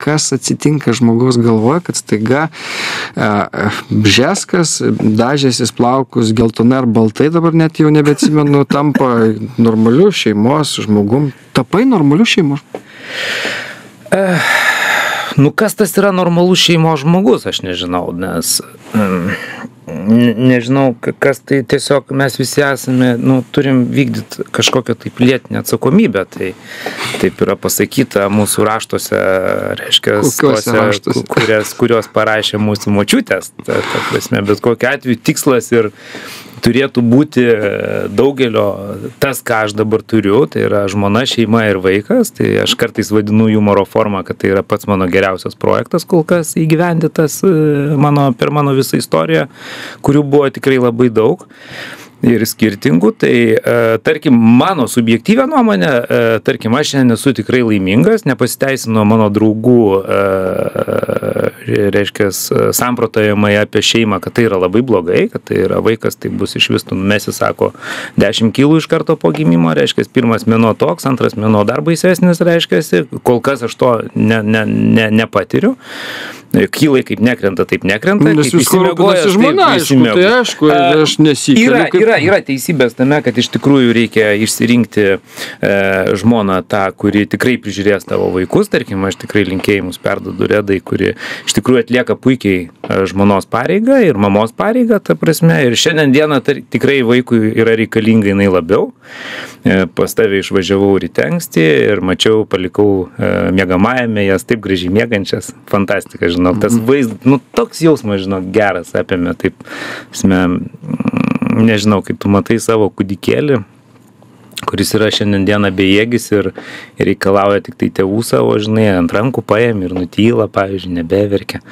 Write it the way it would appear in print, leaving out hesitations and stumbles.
kas atsitinka žmogaus galvoje, kad staiga Bžeskas dažęsis plaukus geltonai ar baltai, dabar net jau nebeatsimenu, tampa normaliu šeimos žmogum. Tapai normaliu šeimos? Nu, kas tas yra normalus šeimos žmogus, aš nežinau, nes nežinau, kas tai tiesiog mes visi esame, nu, turim vykdyti kažkokią tai pilietinę atsakomybę, tai taip yra pasakyta mūsų raštuose, reiškia, kurios parašė mūsų močiutės, ta prasme, bet kokiu atveju tikslas ir turėtų būti daugelio tas, ką aš dabar turiu, tai yra žmona, šeima ir vaikas, tai aš kartais vadinu humoro formą, kad tai yra pats mano geriausias projektas kol kas įgyvendytas per mano visą istoriją, kurių buvo tikrai labai daug ir skirtingų, tai tarkim, mano subjektyvę nuomonę, tarkim, aš šiandien esu tikrai laimingas, nepasiteisino mano draugų, reiškia, samprotavimai apie šeimą, kad tai yra labai blogai, kad tai yra vaikas, tai bus iš vis, numesi, sako, 10 kilų iš karto po gimimo, reiškia, pirmas mėnuo toks, antras mėnuo dar baisesnis, reiškia, kol kas aš to nepatiriu. Kylai kaip nekrenta, taip nekrenta. Nes jūs rūpinasi žmona, tai aišku, aš nesikeliu. Yra teisybės tame, kad iš tikrųjų reikia išsirinkti žmoną tą, kuri tikrai prižiūrės tavo vaikus. Tarkim, aš tikrai linkėjimus perduodu Redai, kuri iš tikrųjų atlieka puikiai žmonos pareigą ir mamos pareigą, ta prasme. Ir šiandien dieną tikrai vaikui yra reikalinga jinai labiau. Pas tave išvažiavau ryte anksti ir mačiau, palikau miegamajame jas taip gražiai miegančias. Fantastika, žinau. Tas vaizdas, nu, toks jausmas, žinau, geras apėmė, taip, nežinau, kaip tu matai savo kūdikėlį, kuris yra šiandien dieną bejėgis ir reikalauja tik tai tėvų savo, žinai, ant rankų paėmė ir nutyla, pavyzdžiui, nebeverkia.